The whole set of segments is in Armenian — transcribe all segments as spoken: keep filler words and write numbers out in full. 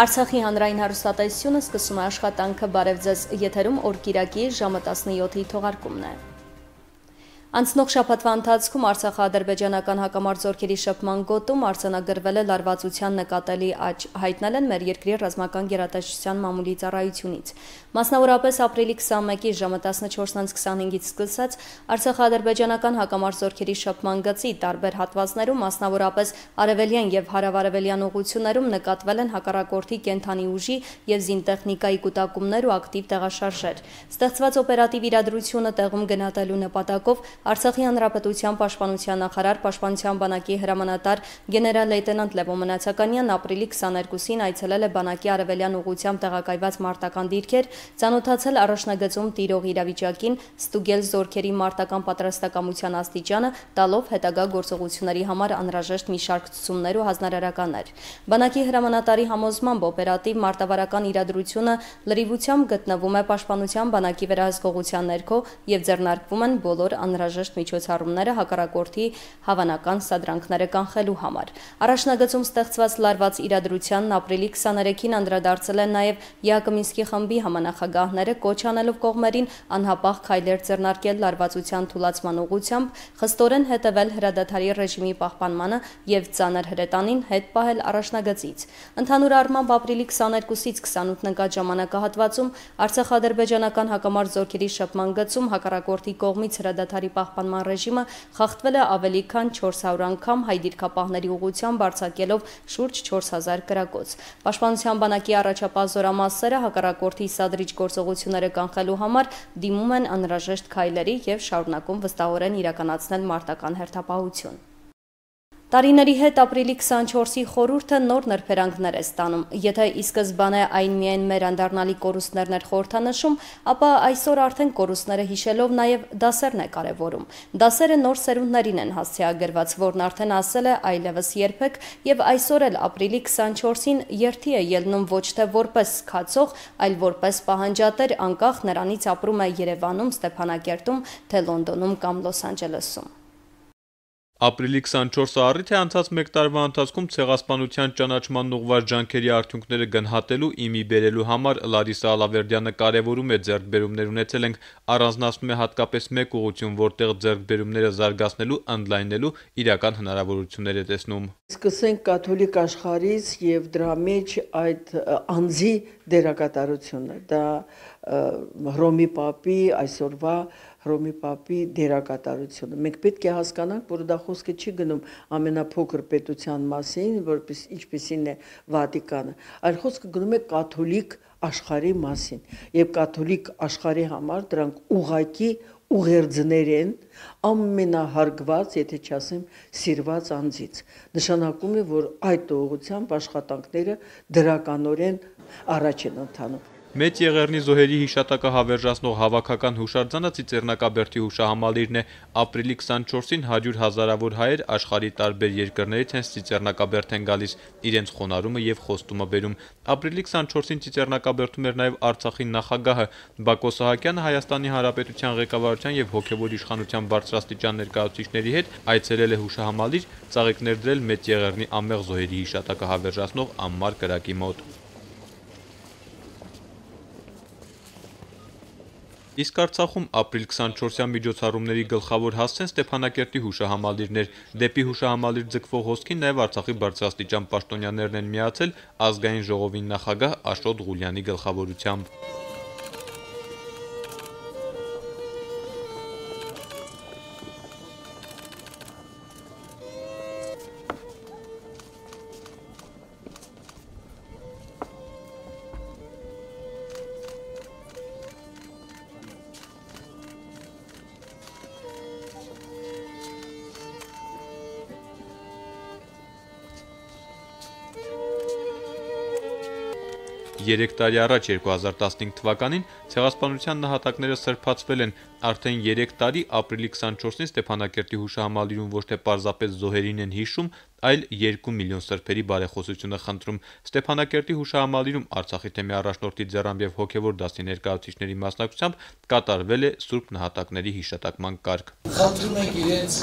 Արցախի հանրային հեռուստատեսությունը սկսում է աշխատանքը բարև ձեզ եթերում օրկիրակի ժամը տասնյոթի թողարկումն է։ Անցնող շաբաթվա ընթացքում Արցախա-ադրբեջանական հակամարտ շփման գոտում արձանագրվել է լարվածության նկատելի աճ, հայտնել են մեր երկրի ռազմական գերատեսչության մամուլի ծառայությունից։ Մասնավորապես ապրիլի քսանմեկի ժամը տասնչորսից քսանհինգից սկսած Արցախա-ադրբեջանական հակամարտ շփման գծի տարբեր հատվածներում, մասնավորապես արևելյան եւ հարավարևելյան ուղություններում նկատվել են հակառակորդի կենթանի ուժի եւ զինտեխնիկայի կուտակումներ ու ակտիվ տեղաշարժեր։ Ստեղծված օպերատիվ իրադրությունը տեղում գնահատելու նպատակով Արցախի հանրապետության պաշտպանության նախարար պաշտպանության բանակի հրամանատար գեներալ-լեյտենանտ Լևոն Մնացականյանն ապրիլի քսաներկուսին այցելել է բանակի արևելյան ուղղությամբ տեղակայված մարտական դիրքեր, ծանոթացել առաջնագծում տիրող իրավիճակին, ստուգել զորքերի մարտական պատրաստակամության աստիճանը, տալով հետագա գործողությունների համար անհրաժեշտ մի շարք ցուցումներ ու հանրահարականներ։ Բանակի հրամանատարի համոզմամբ օպերատիվ մարտավարական իրադրությունը լրիվությամբ գտնվում է պաշտպանության բանակի վերահսկողության ներքո եւ ձեռնարկվում են բոլոր անհրաժեշտ միջոցառումները հակառակորդի հավանական սադրանքները կանխելու համար։ Առաջնագծում ստեղծված լարված իրադրությանն ապրիլի քսաներեքին անդրադարձել են նաև Յակոմինսկի խմբի համանախագահները, կոչ անելով կողմերին անհապաղ քայլեր ձեռնարկել լարվածության թուլացման ուղղությամբ, խստորեն հետևել հրադադարի ռեժիմի պահպանմանը եւ ծանր հրետանին հետ պահել առաջնագծից։ Ընդհանուր առմամբ ապրիլի քսաներկուսից քսանութ ընկած ժամանակահատվածում Արցախա-ադրբեջանական հակամարտ զորքերի շփման գծում հակառակորդի կողմից հրադադարի պահպանման ռեժիմը խախտվել է ավելի քան չորս հարյուր անգամ հայ դիրքապահների ուղղությամբ արձակելով շուրջ չորս հազար կրակոց։ Պաշտպանության բանակի առաջապահ զորամասերը հակառակորդի սադրիչ գործողությունները կանխելու համար դիմում են անհրաժեշտ քայլերի եւ շարունակում վստահորեն իրականացնել մարտական հերթապահություն։ Տարիների հետ ապրիլի քսանչորսի խորհուրդը նոր նրբերանգներ է ստանում։ Եթե ի սկզբանե այն միայն մեր անդառնալի կորուստներն էր խորհրդանշում, ապա այսօր արդեն կորուստները հիշելով նաև դասերն է կարևորում։ Դասերը նոր սերունդներին են հասցեագրված, որն արդեն ասել է այլևս երբեք, եւ այսօր էլ ապրիլի քսանչորսին երթի է ելնում ոչ թե որպես քացող, այլ որպես պահանջատեր, անկախ նրանից ապրում է Երևանում, Ստեփանակերտում, թե Լոնդոնում կամ Լոս Անջելեսում։ Ապրիլի քսանչորսը առիթ է անցած մեկ տարվա ընթացքում ցեղասպանության ճանաչման ուղղված ջանքերի արդյունքները գնահատելու, իմի բերելու համար Լարիսա Ալավերդյանը կարևորում է ձեռքբերումներ ունեցել ենք, առանձնացնում է հատկապես մեկ ուղղություն, որտեղ ձեռքբերումները զարգացնելու, ընդլայնելու իրական հնարավորություններ է տեսնում։ Սկսենք կաթոլիկ աշխարհից եւ դրա մեջ այդ անձի դերակատարությունը, դա Հռոմի Պապի այսօրվա Հռոմի Պապի դերակատարությունը։ Մենք պետք է հասկանանք, որ դա խոսքը չի գնում ամենափոքր պետության մասին, որպես ինչպեսին է Վատիկանը, այլ խոսքը գնում է կաթոլիկ աշխարհի մասին, եւ կաթոլիկ աշխարհի համար դրանք ուղակի ուղերձներ են ամենահարգված, եթե չասեմ, սիրված անձից։ Նշանակում է, որ այդ ուղղությամբ աշխատանքները դրականորեն առաջ են ընթանում։ Մեծ Եղեռնի զոհերի հիշատակը հավերժացնող հավաքական հուշարձանը Ծիծեռնակաբերդի հուշահամալիրն է։ Ապրիլի քսանչորսին հարյուր հազարավոր հայեր աշխարհի տարբեր երկրներից հենց Ծիծեռնակաբերդ են գալիս, իրենց խոնարհումը եւ խոստումը բերում։ Ապրիլի քսանչորսին Ծիծեռնակաբերդում էր նաեւ Արցախի նախագահը Բակո Սահակյանը Հայաստանի Հանրապետության ղեկավարության եւ հոգեվոր իշխանության բարձրաստիճան ներկայացուցիչների հետ այցելել է հուշահամալիր, ծաղիկներ դրել Մեծ Եղեռնի անմեղ զոհերի հիշատակը հավերժացնող անմար կրակի մոտ։ Իսկ Արցախում ապրիլ քսանչորսյան միջոցառումների գլխավոր հասցեն Ստեփանակերտի հուշահամալիրն էր։ Դեպի հուշահամալիր ձգվող հոսքին նաև Արցախի բարձրաստիճան պաշտոնյաներն են միացել ազգային ժողովի նախագահ Աշոտ Ղուլյանի գլխավորությամբ։ Երեք տարի առաջ երկու հազար տասնհինգ թվականին ցեղասպանության նահատակները սրբացվել են, արդեն երեք տարի ապրիլի քսանչորսին Ստեփանակերտի հուշահամալիրում ոչ թե պարզապես զոհերին են հիշում, այլ երկու միլիոն սրբերի բարեխոսությունը խնդրում։ Ստեփանակերտի հուշահամալիրում Արցախի թեմի առաջնորդի ձեռամբ եւ հոգեվոր դասի ներկայացուցիչների մասնակցությամբ կատարվել է Սուրբ նահատակների հիշատակման կարգ։ Խնդրում ենք իրենց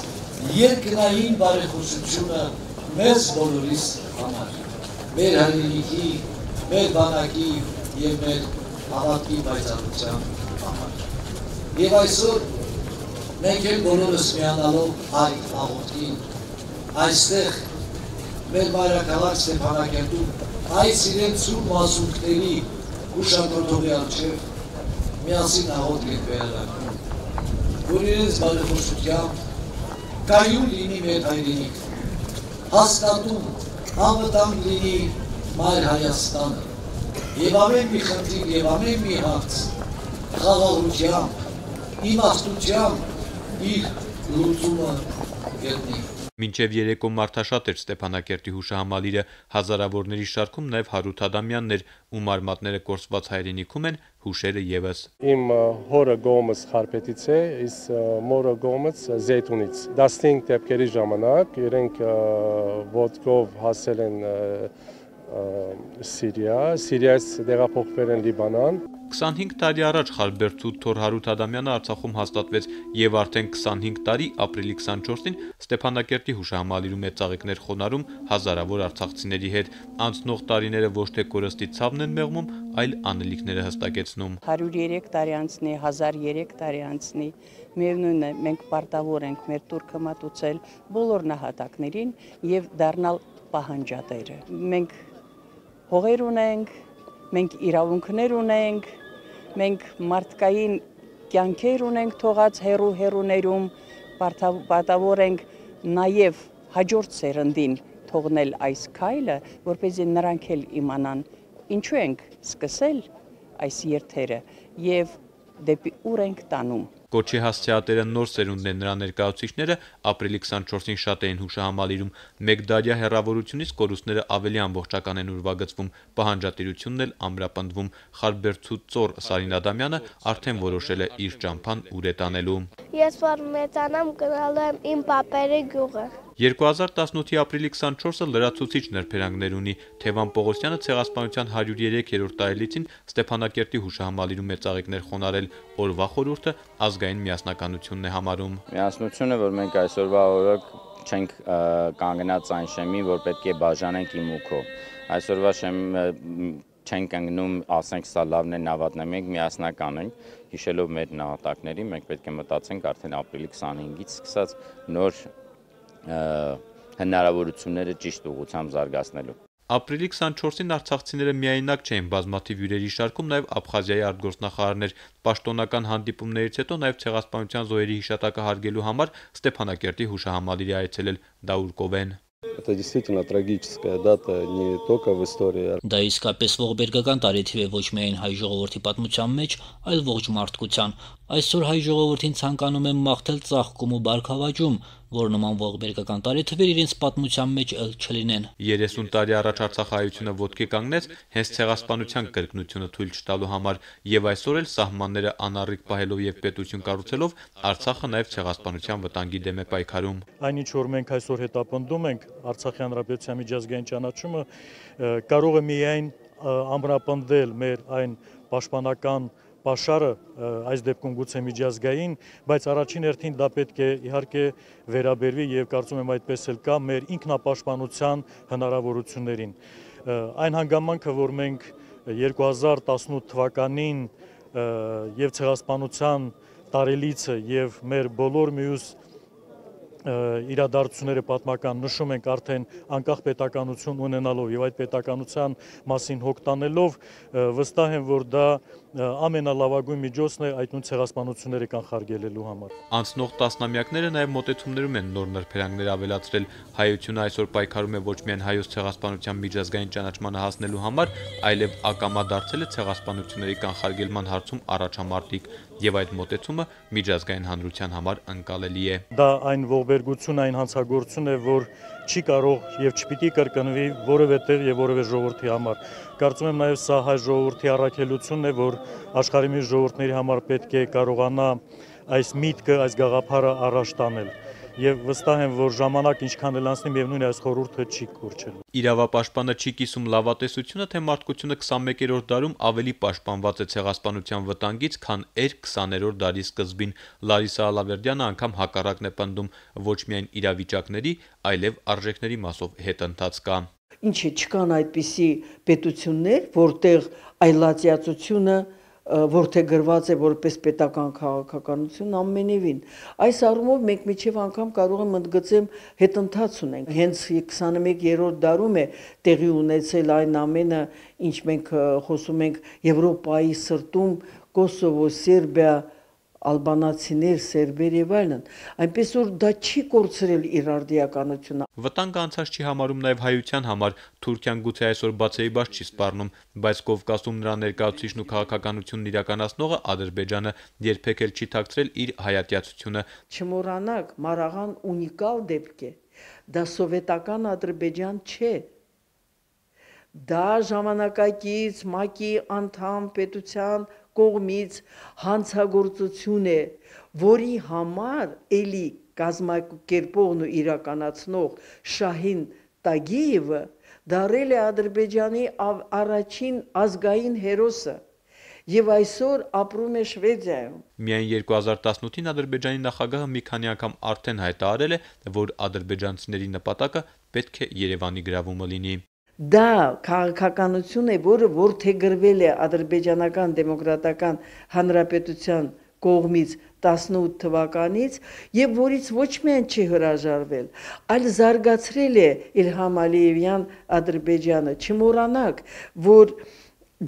երկնային բարեխոսությունը մեզ բոլորիս համար, մեր հայրենիքի մեր բանակի եւ մեր հավատքի պայծառության համար։ Եվ այսօր մենք էլ բոլորս միանալով այդ աղոթքին այստեղ մեր մայրաքաղաք Ստեփանակերտում այս իրեն սուրբ մասունքների ուշադրողի առջև միասին աղոթք ենք վերականգնում, որ իրենց բարեփոխությամբ կայուն լինի մեր հայրենիք, հաստատում անվտանգ լինի մայր Հայաստանը, եւ ամեն մի խնդիր եւ ամեն մի հարց խաղաղությամբ, իմաստությամբ իր լուծումը գտնի։ Մինչև երեկո մարդաշատ էր Ստեփանակերտի հուշահամալիրը, հազարավորների շարքում նաև Հարութ Ադամյանն էր, ում արմատները կորսված հայրենիքում են, հուշերը եւս։ Իմ հորը գոմս Խարպետից է, իս մորը գոմս Զեյթունից։ տասնհինգ դեպքերի ժամանակ իրենք ոտքով հասել են Սիրիա, Սիրիայից տեղափոխվել են Լիբանան։ քսանհինգ տարի առաջ Խարբերդու թոր Հարութ Ադամյանը Արցախում հաստատվեց եւ արդեն քսանհինգ տարի ապրիլի քսանչորսին Ստեփանակերտի հուշահամալիրում է ծաղիկներ խոնարհում հազարավոր արցախցիների հետ։ Անցնող տարիները ոչ թե կորստի ցավն են մեղմում, այլ անելիքները հստակեցնում։ հարյուր երեք տարի անցնի, հազար երեք տարի անցնի, միևնույն է, մենք պարտավոր ենք մեր տուրքը մատուցել բոլոր նահատակներին եւ դառնալ պահանջատերը։ Մենք հողեր ունենք, մենք իրավունքներ ունենք, մենք մարդկային կյանքեր ունենք թողած հերու հերուներում, պարտավոր ենք նաև հաջորդ սերնդին թողնել այս քայլը, որպեսզի նրանք էլ իմանան ինչու ենք սկսել այս երթերը եւ դեպի ուր ենք տանում։ Կոչի հասցեատերը նոր սերունդն են, նրա ներկայացուցիչները ապրիլի քսանչորսին շատ էին հուշահամալիրում։ Մեկ դարյա հեռավորությունից կորուստները ավելի ամբողջական են ուրվագծվում, պահանջատիրությունն էլ ամրապնդվում։ Խարբերդու ծոր Սարին Ադամյանը արդեն որոշել է իր ճամփան ուր է տանելու։ Ես որ մեծանամ գնալու եմ իմ պապերի գյուղը։ երկու հազար տասնութի ապրիլի քսանչորսը լրացուցիչ նրբերանգներ ունի։ Թևան Պողոսյանը ցեղասպանության հարյուր երեք-րդ տարելիցին Ստեփանակերտի հուշահամալիրում է ծաղիկներ խոնարել, օրվա խորհուրդը ազգային միասնականությունն է համարում։ Միասնությունը, որ մենք այսօրվա օրը չենք կանգնած այն շեմին, որ պետք է բաժանենք իմ ու քո։ Այսօրվա շեմը չենք կանգնում, ասենք սա լավն է, նավատն է, մենք միասնական ենք, հիշելով մեր նահատակներին, մենք պետք է մտածենք արդեն ապրիլի քսանհինգից սկսած նոր հնարավորությունները ճիշտ ուղղությամբ զարգացնելու։ Ապրիլի քսանչորսին արցախցիները միայնակ չէին, բազմաթիվ հյուրերի շարքում նաև Աբխազիայի արտգործնախարարներ, պաշտոնական հանդիպումներից հետո նաև ցեղասպանության զոհերի հիշատակը հարգելու համար Ստեփանակերտի հուշահամալիրի այցելել Դաուր Կովեն։ Это действительно трагическая дата не только в истории. Դա իսկապես ողբերգական տարեթիվ է ոչ միայն հայ ժողովրդի պատմության մեջ, այլ ողջ մարդկության։ Այսօր հայ ժողովրդին ցանկանում եմ մաղթել ծաղկում ու բարգավաճում, որ նման ողբերգական տարեթվեր իրենց պատմության մեջ ել չլինեն։ երեսուն տարի առաջ Արցախայությունը ոտքի կանգնեց հենց ցեղասպանության կրկնությունը թույլ չտալու համար, եւ այսօր էլ սահմանները անառիկ պահելով եւ պետություն կառուցելով Արցախը նաեւ ցեղասպանության վտանգի դեմ է պայքարում։ Այն ինչ որ մենք այսօր հետապնդում ենք Արցախի հանրապետության միջազգային ճանաչումը կարող է միայն ամրապնդել մեր այն պաշտպանական Պաշարը այս դեպքում գուցե միջազգային, բայց առաջին հերթին դա պետք է իհարկե վերաբերվի եւ կարծում եմ այդպես էլ կա մեր ինքնապաշտպանության հնարավորություններին։ Այն հանգամանքը, որ մենք երկու հազար տասնութ թվականին եւ ցեղասպանության տարելիցը եւ մեր բոլոր մյուս իրադարձությունները պատմական նշում ենք արդեն անկախ պետականություն ունենալով եւ այդ պետականության մասին հոգ տանելով վստահ եմ, որ դա ամենալավագույն միջոցն է այդ նույն ցեղասպանությունները կանխարգելելու համար։ Անցնող տասնամյակները նաև մոտեցումներում են նոր նրբերանգներ ավելացրել։ Հայությունը այսօր պայքարում է ոչ միայն հայոց ցեղասպանության միջազգային ճանաչմանը հասնելու համար, այլև ակամա դարձել է ցեղասպանությունների կանխարգելման հարցում առաջամարտիկ, եւ այդ մոտեցումը միջազգային հանրության համար ընկալելի է։ Դա այն ողբերգություն, այն հանցագործություն է, որ չի կարող եւ չպիտի կրկնվի որևէ տեղ եւ որևէ ժողովրդի համար։ Կարծում եմ նաեւ սա հայ ժողովրդի առաքելությունն է, որ աշխարհի մյուս ժողովուրդների համար պետք է կարողանա այս միտքը, այս գաղափարը առաջ տանել։ Եվ վստահ եմ, որ ժամանակ ինչքան էլ անցնի, միևնույն է այս խորհուրդը չի կորչելու։ Իրավապաշտպանը չի կիսում լավատեսությունը, թե մարդկությունը քսանմեկերորդ դարում ավելի պաշտպանված է ցեղասպանության վտանգից, քան էր քսաներորդ դարի սկզբին։ Լարիսա Ալավերդյանը անգամ հակառակն է պնդում, ոչ միայն իրավիճակների, այլև արժեքների մասով հետընթաց կա։ ինչ է, չկան այդպիսի պետություններ, որտեղ այլատիացությունը որթե գրված է որպես պետական քաղաքականություն ամենևին։ Այս առումով մենք միջև անգամ կարող եմ ընդգծեմ հետընթաց ունենք։ Հենց քսաներորդ դարում է տեղի ունեցել այն ամենը, ինչ մենք խոսում ենք Եվրոպայի սրտում, Կոսովո, Սերբիա, ալբանացիներ, սերբեր եւ այլն, այնպես որ դա չի կորցրել իր արդիականությունը։ Վտանգը անցած չի համարում նաև հայության համար, Թուրքիան գուցե այսօր բացեի բաց չի սպառնում, բայց Կովկասում նրա ներկայացուցիչն ու քաղաքականությունն իրականացնողը Ադրբեջանը երբեք էլ չի թաքցրել իր հայատյացությունը։ Չմոռանաք, Մարաղան ունիկալ դեպք է, դա սովետական Ադրբեջան չէ։ Դա ժամանակակից ՄԱԿ-ի անդամ պետության կողմից հանցագործություն է, որի համար էլի կազմակերպողն ու իրականացնող Շահին Տագիևը դարել է Ադրբեջանի առաջին ազգային հերոսը եւ այսօր ապրում է Շվեդիայում։ Միայն երկու հազար տասնութին Ադրբեջանի նախագահը մի քանի անգամ արդեն հայտարարել է, որ ադրբեջանցիների նպատակը պետք է Երևանի գրավումը լինի։ Դա քաղաքականություն է, որը որդեգրվել է ադրբեջանական դեմոկրատական հանրապետության կողմից տասնութ թվականից եւ որից ոչ միայն չի հրաժարվել, այլ զարգացրել է Իլհամ Ալիևյան Ադրբեջանը։ Չմոռանաք, որ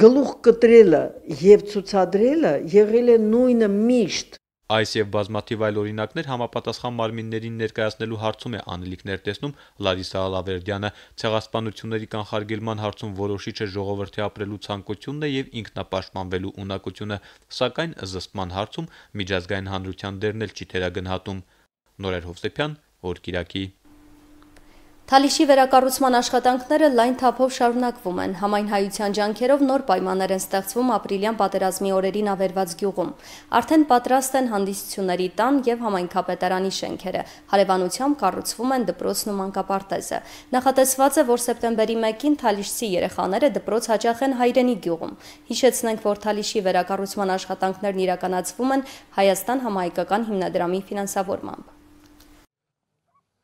գլուխ կտրելը եւ ցուցադրելը եղել է նույնը միշտ։ Այս եւ բազմաթիվ այլ օրինակներ համապատասխան մարմիններին ներկայացնելու հարցում է անելիքներ տեսնում Լարիսա Ալավերդյանը։ Ցեղասպանությունների կանխարգելման հարցում որոշիչ է ժողովրդի ապրելու ցանկությունն է եւ ինքնապաշտպանվելու ունակությունը, սակայն զսպման հարցում միջազգային հանրության դերն էլ չի թերագնահատում։ Նորեր Հովսեփյան, Օր Կիրակի։ Թալիշի վերակառուցման աշխատանքները լայն թափով շարունակվում են։ Համայնհայության ջանքերով նոր պայմաններ են ստեղծվում ապրիլյան պատերազմի օրերին ավերված գյուղում։ Արդեն պատրաստ են հանդիսությունների տան եւ համայնքապետարանի շենքերը։ Հարևանությամբ կառուցվում են դպրոցն ու մանկապարտեզը։ Նախատեսված է, որ սեպտեմբերի մեկին թալիշցի երեխաները դպրոց հաճախեն Հայրենի գյուղում։ Հիշեցնենք, որ Թալիշի վերակառուցման աշխատանքներն իրականացվում են Հայաստան համահայկական հիմնադրամի ֆինանսավորմամբ։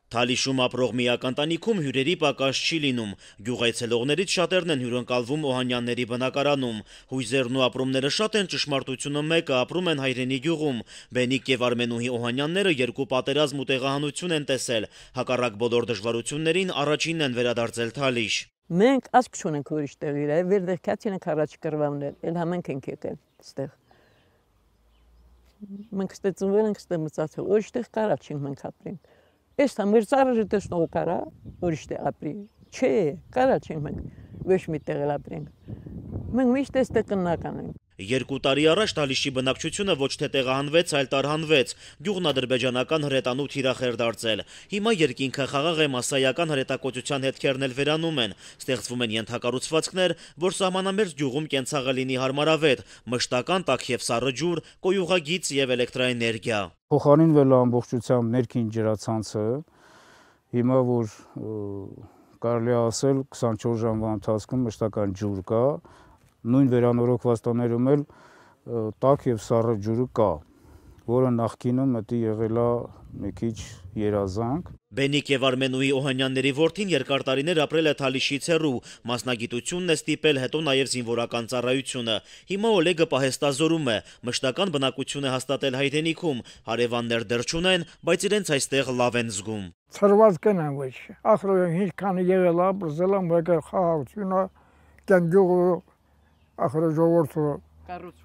Թալիշում ապրող միակ ընտանիքում հյուրերի պակաս չի լինում։ Գյուղայցելողներից շատերն են հյուրընկալվում Օհանյանների բնակարանում։ Հույզերն ու ապրումները շատ են, ճշմարտությունը մեկը, ապրում են Հայրենի գյուղում։ Բենիկ եւ Արմենուհի Օհանյանները երկու պատերազմ ու տեղահանություն են տեսել։ Հակառակ բոլոր դժվարություններին առաջինն են վերադարձել Թալիշ։ Մենք ասք չունենք ուրիշ տեղ իր, վերդերքած ենք առաջ կրվամներ, էլ համենք ենք եկել ստեղ։ Մենք ստեցնվել ենք ստեղ մծացել, ուրիշ տեղ կարա չենք մենք ապրենք։ Ես մեր ծառը տեսնող կարա ուրիշ տեղ ապրի, չէ, կարա չենք մենք ոչ մի տեղ ապրենք, մենք միշտ այստեղ կնական ենք։ Երկու տարի առաջ Թալիշի բնակչությունը ոչ թե տեղահանվեց, այլ տարհանվեց, գյուղն ադրբեջանական հրետանու թիրախ էր դարձել։ Հիմա երկինքը խաղաղ է, մասսայական հրետակոծության հետքերն էլ վերանում են, ստեղծվում են ենթակառուցվածքներ, որ սահմանամերձ գյուղում կենցաղը լինի հարմարավետ, մշտական տաք եւ սառը ջուր, կոյուղագիծ եւ էլեկտրաէներգիա։ Փոխարինվել է ամբողջությամբ ներքին ջրացանցը, հիմա որ կարելի է ասել քսանչորս ժամվա ընթացքում մշտական ջուր կա, նույն վերանորոգված տաներում էլ տաք եւ սառը ջուրը կա, որը նախկինում մտի եղել է մի քիչ երազանք։ Բենիկ եւ Արմենուհի Օհանյանների որդին երկար տարիներ ապրել է Թալիշից հեռու, մասնագիտությունն է ստիպել, հետո նաեւ զինվորական ծառայությունը։ Հիմա Օլեգը պահեստազորում է, մշտական բնակություն է հաստատել Հայրենիքում, հարևաններ դեռ չունեն, բայց իրենց այստեղ լավ են զգում։ Ցրված կնան ոչ, ախր ինչքան եղել է, բրզել եմ եկել խաղաղությունը, կենգյուղը, ախր ժողովուրդը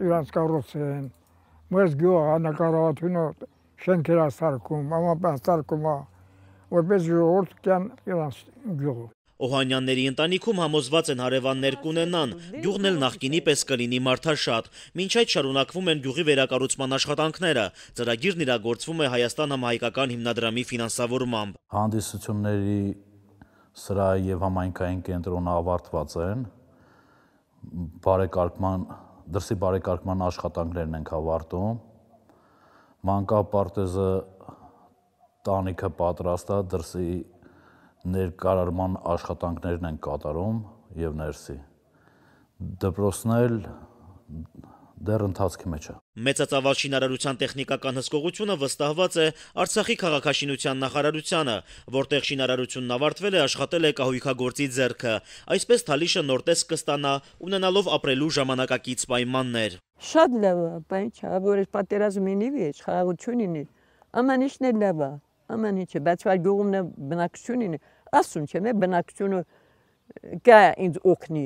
իրանց կառուցեն, մեզ գյուղը նկարահատությունը շենքեր սարքում, ամապան սարքում է, որպես ժողովուրդ կան իրանց գյուղը։ Օհանյանների ընտանիքում համոզված են հարևաններ կունենան, գյուղն էլ նախկինի պես կլինի մարդաշատ։ Մինչ այդ շարունակվում են գյուղի վերակառուցման աշխատանքները, ծրագիրն իրագործվում է Հայաստան համահայկական հիմնադրամի ֆինանսավորմամբ։ Հանդիսությունների սրահի եւ համայնքային կենտրոնը ավարտված են, բարեկարգման, դրսի բարեկարգման աշխատանքներն ենք ավարտում, մանկապարտեզը տանիքը պատրաստ է, դրսի ներկարարման աշխատանքներն են կատարում եւ ներսի։ Դպրոցն էլ դեռ ընթացքի մեջ է։ Մեծածավալ շինարարության տեխնիկական հսկողությունը վստահված է Արցախի քաղաքաշինության նախարարությանը, որտեղ շինարարությունն ավարտվել է, աշխատել է կահույքագործի ձեռքը։ Այսպես Թալիշը նոր տեսք կստանա, ունենալով ապրելու ժամանակակից պայմաններ։ Շատ լավ է, բայց որ պատերազմի նիվի է, խաղաղություն ունի, ամեն ինչն է լավ է, ամեն ինչը, բայց վար գյուղումն է բնակություն ունի, ասում չեմ, բնակությունը կա ինձ օգնի։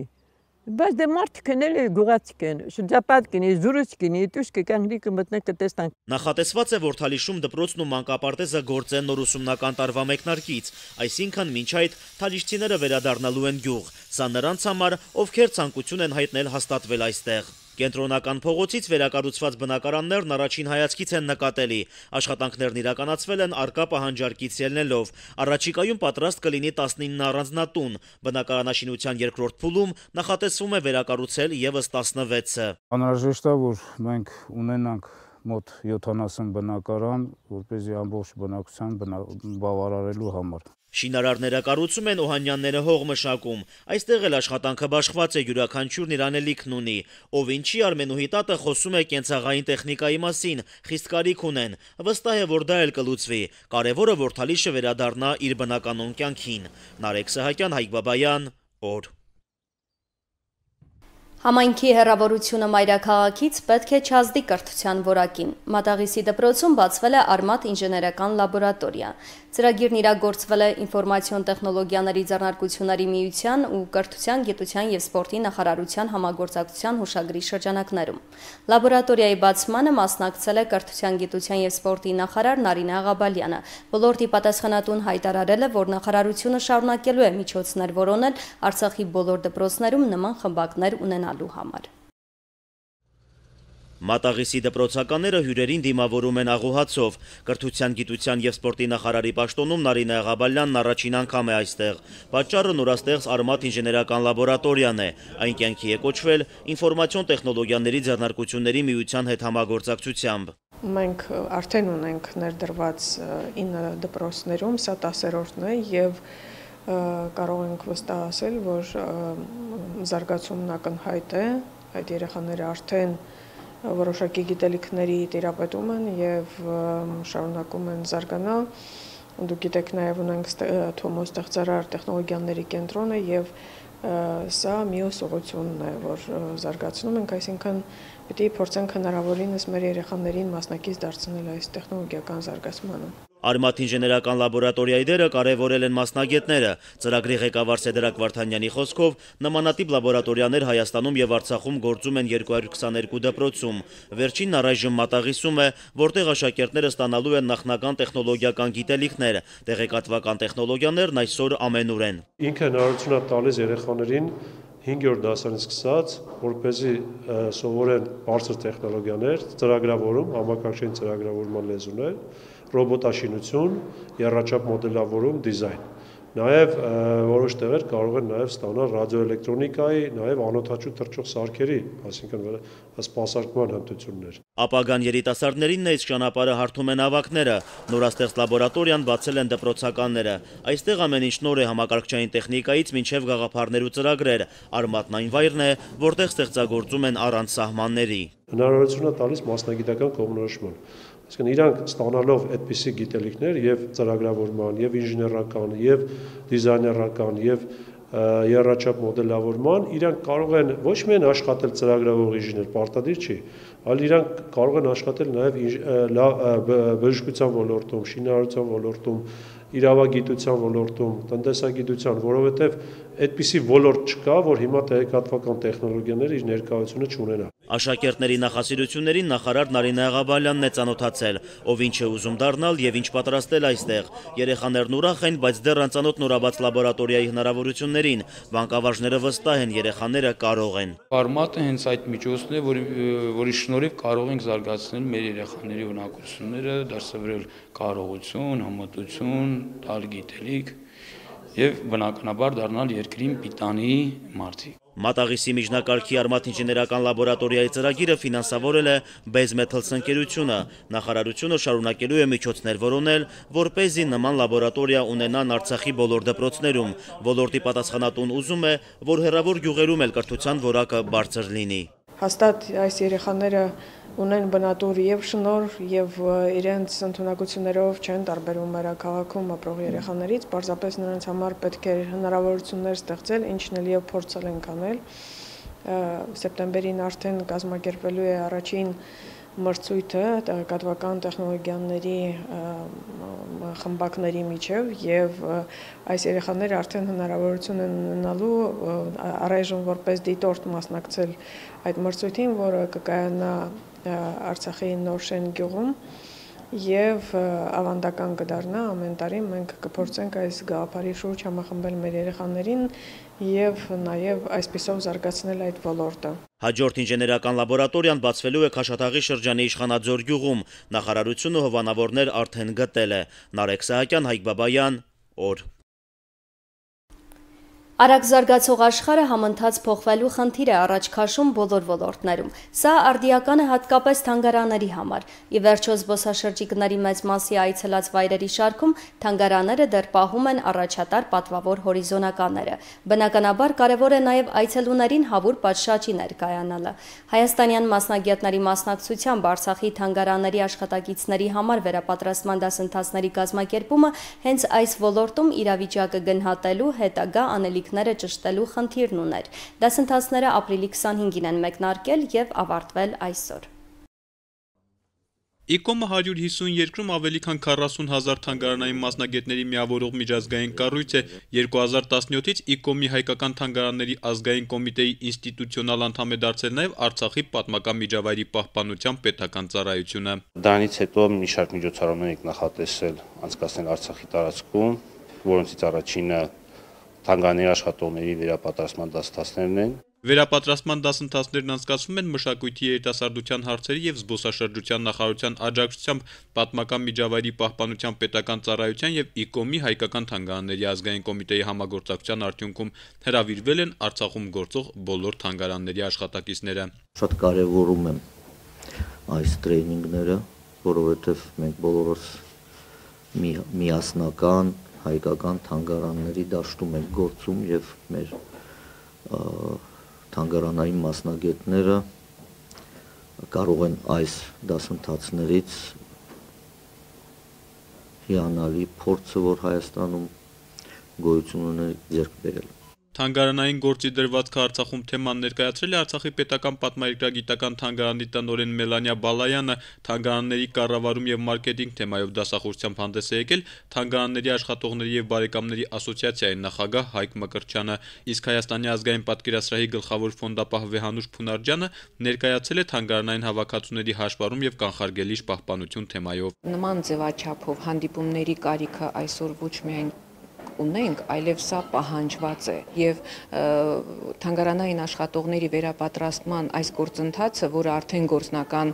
Բայց դե մարդիկ են էլի գյուղացիք են, շրջապատ կինի, զուրուց կինի, դուս կգանքի կմտնեք կտեսնանք։ Նախատեսված է, որ Թալիշում դպրոցն ու մանկապարտեզը գործեն նոր ուսումնական տարվա մեկնարկից, այսինքն մինչ այդ թալիշցիները վերադառնալու են գյուղ, սա նրանց համար, ովքեր ցանկություն են հայտնել հաստատվել այստեղ։ Կենտրոնական փողոցից վերակառուցված բնակարաններն առաջին հայացքից են նկատելի, աշխատանքներն իրականացվել են առկա պահանջարկից ելնելով, առաջիկայում պատրաստ կլինի տասնինը առանձնատուն, բնակարանաշինության երկրորդ փուլում նախատեսվում է վերակառուցել ևս տասնվեցը։ Անհրաժեշտ է, որ մենք ունենանք մոտ յոթանասուն բնակարան, որպեսզի ամբողջ բնակության բավարարելու համար։ Շինարարները կառուցում են, Օհանյանները հող մշակում։ Այստեղ էլ աշխատանքը բաշխված է, յուրաքանչյուրն իր անելիքն ունի։ Ով ինչի Արմենուհի տատը խոսում է կենցաղային տեխնիկայի մասին, խիստ կարիք ունեն։ Վստահ է, որ դա էլ կլուծվի։ Կարևորը, որ Թալիշը վերադառնա իր բնականոն կյանքին։ Նարեկ Սահակյան, Հայկ Բաբայան, օր։ Համայնքի հեռավորությունը մայրաքաղաքից պետք է չազդի կրթության որակին։ Մատաղիսի դպրոցում բացվել է Արմաթ ինժեներական լաբորատորիա։ Ծրագիրն իրագործվել է ինֆորմացիոն տեխնոլոգիաների ձեռնարկությունների միության ու կրթության, գիտության և սպորտի նախարարության համագործակցության հուշագրի շրջանակներում։ Լաբորատորիայի բացմանը մասնակցել է կրթության, գիտության և սպորտի նախարար Նարինե Աղաբալյանը։ Ոլորտի պատասխանատուն հայտարարել է, որ նախարարությունը շարունակելու է միջոցներ որոնել Արցախի բոլոր դպրոցներում նման խմբակներ ունենալու համար։ Մատաղիսի դպրոցականները հյուրերին դիմավորում են աղոհացով։ Կրթության, գիտության և սպորտի նախարարի պաշտոնում Նարինե Աղաբալյանն առաջին անգամ է այստեղ։ Պատճառը նորաստեղծ Արմաթ ինժեներական լաբորատորիան է։ Այն կյանքի է կոչվել ինֆորմացիոն տեխնոլոգիաների ձեռնարկությունների միության հետ համագործակցությամբ։ Մենք արդեն ունենք ներդրված ինը դպրոցներում, սա տասերորդն է և կարող ենք վստահ ասել, որ զարգացումն ակնհայտ է, այդ երեխաները արդեն որոշակի գիտելիքների տիրապետում են և շարունակում են զարգանալ։ Դուք գիտեք, նաև ունենք Թոմոս ստեղծարար տեխնոլոգիաների կենտրոնը և սա մյուս ուղղությունն է, որ զարգացնում ենք, այսինքն պիտի փորձենք հնարավորինս մեր երեխաներին մասնակից դարձնել այս տեխնոլոգիական զարգացմանը։ Արմաթ ինժեներական լաբորատորիայի դերը կարևորել են մասնագետները։ Ծրագրի ղեկավար Սեդրակ Վարդանյանի խոսքով նմանատիպ լաբորատորիաներ Հայաստանում եւ Արցախում գործում են երկու հարյուր քսաներկու դպրոցում։ Վերջինն առայժմ Մատաղիսում է, որտեղ աշակերտները ստանալու են նախնական տեխնոլոգիական գիտելիքներ։ Տեղեկատվական տեխնոլոգիաներն այսօր ամենուր են։ Ինքը հնարավորություն է տալիս երեխաներին հինգերորդ դասարից սկսած, որպեսզի սովորեն բարձր տեխնոլոգիաներ, ծրագրավորում, համակարգչային ծրագրավորման լեզուներ, ռոբոտաշինություն, եռաչափ մոդելավորում, դիզայն։ Նաև որոշ տեղեր կարող են նաև ստանալ ռադիոէլեկտրոնիկայի, նաև անօդաչու թռչող սարքերի, այսինքն սպասարկման հմտություններ։ Ապագան երիտասարդներին այս ճանապարհը հարթում են ավակները։ Նորաստեղծ լաբորատորիան բացել են դպրոցականները։ Այստեղ ամեն ինչ նոր է համակարգչային տեխնիկայից մինչև գաղափարներ ու ծրագրեր։ Արմաթն այն վայրն է, որտեղ ստեղծագործում են առանց սահմանների։ Հնարավորություն է տալիս մասնագիտական կողմնորոշման։ Այսինքն իրանք ստանալով այդպիսի գիտելիքներ եւ ծրագրավորման, եւ ինժեներական, եւ դիզայներական, եւ եռաչափ մոդելավորման, իրանք կարող են ոչ միայն աշխատել ծրագրավորող ինժեներ, պարտադիր չի, այլ իրանք կարող են աշխատել նաեւ բժշկության ոլորտում, շինարարության ոլորտում, իրավագիտության ոլորտում, տնտեսագիտության, որովհետև այդպիսի ոլորտ չկա, որ հիմա տեղեկատվական տեխնոլոգիաները իր ներկայությունը չունենա։ Աշակերտների նախասիրություններին նախարար Նարինե Աղաբալյանն է ծանոթացել, ով ինչ է ուզում դառնալ եւ ինչ պատրաստել այստեղ։ Երեխաներն ուրախ են, բայց դեռ անծանոթ նորաբաց լաբորատորիայի հնարավորություններին։ Բանկավարժները վստահ են, երեխաները կարող են։ Արմաթը հենց այդ միջոցն է, որի որի շնորհիվ կարող ենք զարգացնել մեր երեխաների ունակությունները, դասավրել կարողություն, համատություն, տալ գիտելիք եւ բնականաբար դառնալ երկրին պիտանի մարդիկ։ Մատաղիսի միջնակարգի Արմաթ ինժեներական լաբորատորիայի ծրագիրը ֆինանսավորել է Base Metals ընկերությունը։ Նախարարությունը շարունակելու է միջոցներ որոնել, որպեսզի նման լաբորատորիա ունենան Արցախի բոլոր դպրոցներում։ Ոլորտի պատասխանատուն ուզում է, որ հեռավոր գյուղերում էլ կրթության որակը բարձր լինի։ հաստատ այս երեխաները ունեն բնատուր եւ շնոր եւ իրենց ընդունակություններով չեն տարբերվում մայրաքաղաքում ապրող երեխաներից, պարզապես նրանց համար պետք է հնարավորություններ ստեղծել, ինչն էլ եւ փորձել ենք անել։ Սեպտեմբերին արդեն կազմակերպվելու է առաջին մրցույթը տեղեկատվական տեխնոլոգիաների խմբակների միջև եւ այս երեխաները արդեն հնարավորություն են ունենալու առայժմ որպես դիտորդ մասնակցել այդ մրցույթին, որը կկայանա Արցախի Նորշեն գյուղում եւ ավանդական կդառնա ամեն տարի մենք կփորձենք այս գաղափարի շուրջ համախմբել մեր երեխաներին եւ նաեւ այսպիսով զարգացնել այդ ոլորտը։ Հաջորդ ինժեներական լաբորատորիան բացվելու է Քաշաթաղի շրջանի Իշխանաձոր գյուղում։ Նախարարությունը հովանավորներ արդեն գտել է։ Նարեկ Սահակյան, Հայկ Բաբայան, օր։ Արագ զարգացող աշխարհը համընթաց փոխվելու խնդիր է առաջ քաշում բոլոր ոլորտներում։ Սա արդիական է հատկապես թանգարանների համար։ Ի վերջո զբոսաշրջիկների մեծ մասի այցելած վայրերի շարքում թանգարանները դեռ պահում են առաջատար պատվավոր հորիզոնականները։ Բնականաբար կարևոր է նաև այցելուներին հավուր պատշաճի ներկայանալը։ Հայաստանյան մասնագետների մասնակցությամբ Արցախի թանգարանների աշխատակիցների համար վերապատրաստման դասընթացների կազմակերպումը հենց այս ոլորտում իրավիճակը գնահատելու հետագա անելիք ճշտելու խնդիրն ուներ։ Դասընթացները ապրիլի քսանհինգին են մեկնարկել եւ ավարտվել այսօր։ ԻԿՈՄ-ը հարյուր հիսուն երկրում ավելի քան քառասուն հազար թանգարանային մասնագետների միավորող միջազգային կառույց է։ երկու հազար տասնյոթից ԻԿՈՄ-ի հայկական թանգարանների ազգային կոմիտեի ինստիտուցիոնալ անդամ է դարձել նաև Արցախի պատմական միջավայրի պահպանության պետական ծառայությունը։ Դրանից հետո մի շարք միջոցառումներ ենք նախատեսել անցկացնել Արցախի տարածքում, որոնցից առաջինը թանգարանների աշխատողների վերապատրաստման դասընթացներն են։ Վերապատրաստման դասընթացներն անցկացվում են մշակույթի երիտասարդության հարցերի եւ զբոսաշրջության նախարարության աջակցությամբ պատմական միջավայրի պահպանության պետական ծառայության եւ ԻԿՈՄ-ի հայկական թանգարանների ազգային կոմիտեի համագործակցության արդյունքում հրավիրվել են Արցախում գործող բոլոր թանգարանների աշխատակիցները։ Շատ կարևորում եմ այս տրեյնինգները, որովհետեւ մենք բոլորս միասնական հայկական թանգարանների դաշտում ենք գործում եւ մեր թանգարանային մասնագետները կարող են այս դասընթացներից հիանալի փորձը, որ Հայաստանում գոյություն ունի, ձեռք բերել։ Թանգարանային գործի դրվածքը Արցախում թեման ներկայացրել է Արցախի պետական պատմաերկրագիտական թանգարանի տնօրեն Մելանիա Բալայանը, թանգարանների կառավարում եւ մարքեթինգ թեմայով դասախոսությամբ հանդես է եկել թանգարանների աշխատողների եւ բարեկամների ասոցիացիայի նախագահ Հայկ Մկրտչյանը, իսկ Հայաստանի ազգային պատկերասրահի գլխավոր ֆոնդապահ Վեհանուշ Փունարջյանը ներկայացել է թանգարանային հավաքածուների հաշվառում եւ կանխարգելիչ պահպանություն թեմայով։ Նման ձևաչափով հանդիպումների կարիքը այսօր ոչ միայն ունենք, այլև սա պահանջված է եւ թանգարանային աշխատողների վերապատրաստման այս գործընթացը, որը արդեն գործնական,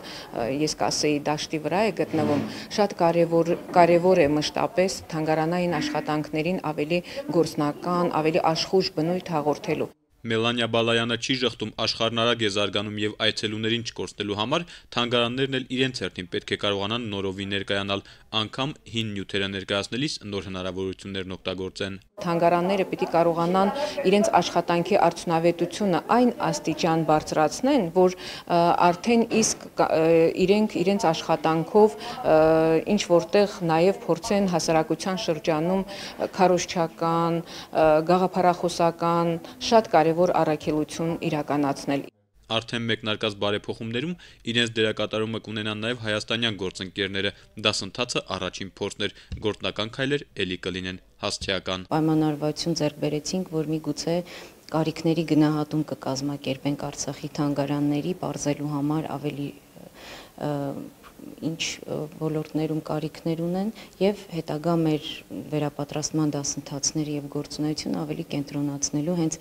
ես կասեի, դաշտի վրա է գտնվում, շատ կարևոր կարևոր է մշտապես թանգարանային աշխատանքներին ավելի գործնական, ավելի աշխուժ բնույթ հաղորդելու։ Մելանիա Բալայանը չի ժխտում աշխարհն արագ է զարգանում եւ այցելուներին չկորցնելու համար թանգարաններն էլ իրենց հերթին պետք է կարողանան նորովի ներկայանալ, անգամ հին նյութերը ներկայացնելիս նոր հնարավորություններն օգտագործեն։ Թանգարանները պիտի կարողանան իրենց աշխատանքի արդյունավետությունը այն աստիճան բարձրացնեն, որ արդեն իսկ իրենք իրենց աշխատանքով ինչ որտեղ նաեւ փորձեն հասարակության շրջանում քարոզչական, գաղափարախոսական շատ կարևոր առաքելություն իրականացնել։ Արդեն մեկնարկած բարեփոխումներում իրենց դերակատարումը կունենան նաև հայաստանյան գործընկերները։ Դասընթացը առաջին փորձն էր, գործնական քայլեր ելի կլինեն հասցեական։ Պայմանավորվածություն ձեռք բերեցինք, որ միգուցե կարիքների գնահատում կկազմակերպենք Արցախի թանգարանների բարձելու համար ավելի ինչ ոլորտներում կարիքներ ունեն եւ հետագա մեր վերապատրաստման դասընթացների եւ գործունեությունը ավելի կենտրոնացնելու հենց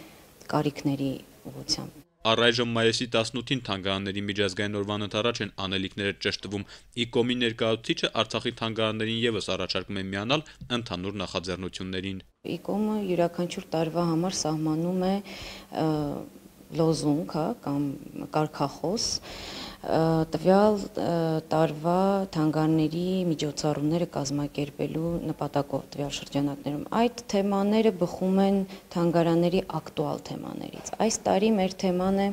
կարիքների ուղղությամբ։ Առայժմ մայիսի տասնութին թանգարանների միջազգային օրվան ընթരാճ են անելիքները ճշտվում։ ԻԿՈՄ-ի ներկայացուցիչը Արցախի թանգարաններին եւս առաջարկում է միանալ ընդհանուր նախաձեռնություններին։ ԻԿՈՄ-ը յուրաքանչյուր տարվա համար սահմանում է լոզունգ, հա, կամ կարգախոս, տվյալ տարվա թանգարանների միջոցառումները կազմակերպելու նպատակով տվյալ շրջանակներում։ Այդ թեմաները բխում են թանգարանների ակտուալ թեմաներից։ Այս տարի մեր թեման է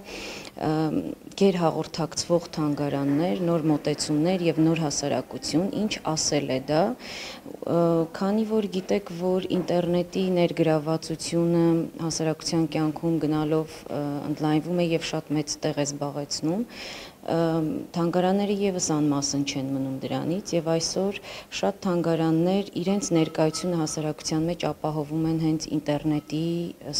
գերհաղորդակցվող թանգարաններ, նոր մոտեցումներ եւ նոր հասարակություն, ինչ ասել է դա, քանի որ գիտեք, որ ինտերնետի ներգրավվածությունը հասարակության կյանքում գնալով ընդլայնվում է եւ շատ մեծ տեղ է զբաղեցնում, թանգարանները եւս անմասն չեն մնում դրանից եւ այսօր շատ թանգարաններ իրենց ներկայությունը հասարակության մեջ ապահովում են հենց ինտերնետի,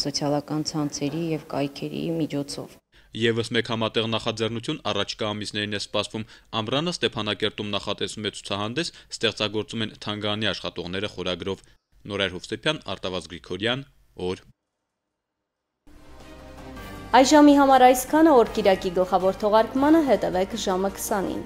սոցիալական ցանցերի եւ կայքերի միջոցով։ Եվս մեկ համատեղ նախաձեռնություն առաջկա ամիսներին է սպասվում։ Ամռանը Ստեփանակերտում նախատեսում է ցուցահանդես «Ստեղծագործում են թանգարանի աշխատողները» խորագրով։ Նորայր Հովսեփյան, Արտավազդ Գրիգորյան, օր։ Այս ժամի համար այսքանը, օր կիրակի գլխավոր թողարկմանը հետևեք ժամը քսանին։